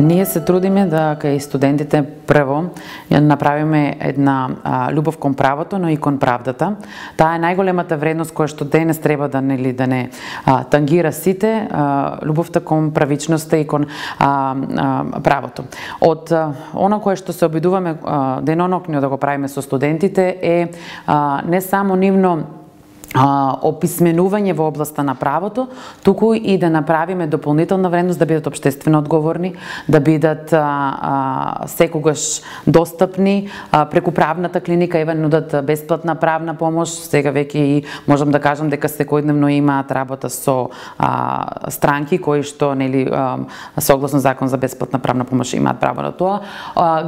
Ние се трудиме да кај студентите прво ја направиме една љубов кон правото, но и кон правдата. Таа е најголемата вредност која што денес треба да не тангира сите, љубовта кон правичноста и кон правото. Од она кое што се обидуваме денонокно да го правиме со студентите е не само нивно описменување во областа на правото, туку и да направиме дополнителна вредност, да бидат општествено одговорни, да бидат секогаш достапни преку правната клиника, еве нудат бесплатна правна помош. Сега веќе и можам да кажам дека секојдневно имаат работа со странки кои што согласно закон за бесплатна правна помош имаат право на тоа.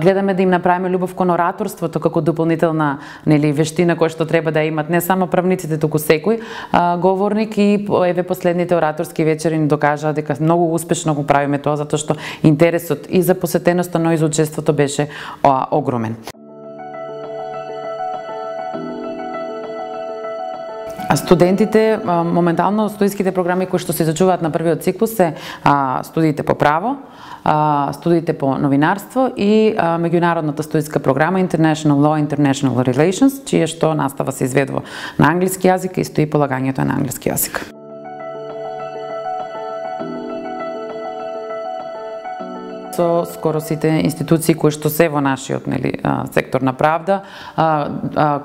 Гледаме да им направиме љубов кон ораторството како дополнителна вештина која што треба да имат не само правниците, туку секој говорник, и еве последните ораторски вечери ни докажаа дека многу успешно го правиме тоа, затоа што интересот и за посетеноста, но и за учеството беше огромен. Студентите, моментално студиските програми кои што се изучуваат на првиот циклус се студиите по право, студиите по новинарство и меѓународната студиска програма International Law, International Relations, чија што настава се изведува на англиски јазик и стои полагањето на англиски јазик. Со скоро сите институции кои што се во нашиот сектор на правда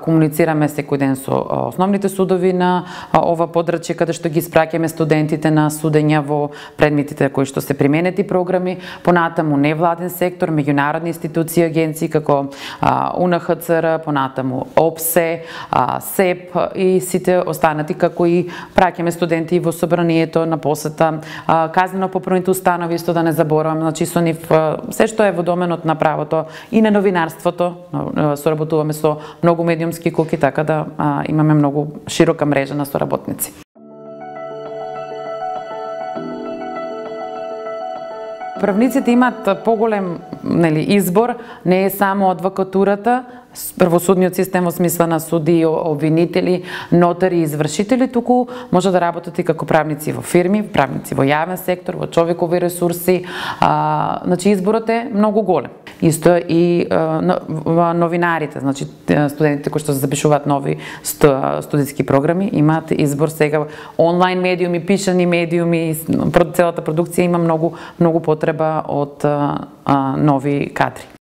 комуницираме секој ден со основните судови на ова подрачје, каде што ги испраќаме студентите на судења во предметите кои што се применети програми, понатаму невладен сектор, меѓународни институции, агенции како УНХЦР, понатаму ОПСЕ, СЕП и сите останати, како и праќаме студенти во собранието на посета, казнено-поправните установи, исто да не заборавам, значи со нив се што е во доменот на правото и на новинарството, соработуваме со многу медиумски куки, така да имаме многу широка мрежа на соработници. Правниците имаат поголем избор, не е само адвокатурата, правосудниот систем во смисла на суди, обвинители, нотари и извршители, туку може да работат и како правници во фирми, правници во јавен сектор, во човекови ресурси. Значи изборот е многу голем. Исто и новинарите, значи студентите кои што се запишуваат нови студиски програми, имаат избор сега онлайн медиуми, пишани медиуми, целата продукција има многу потреба од нови кадри.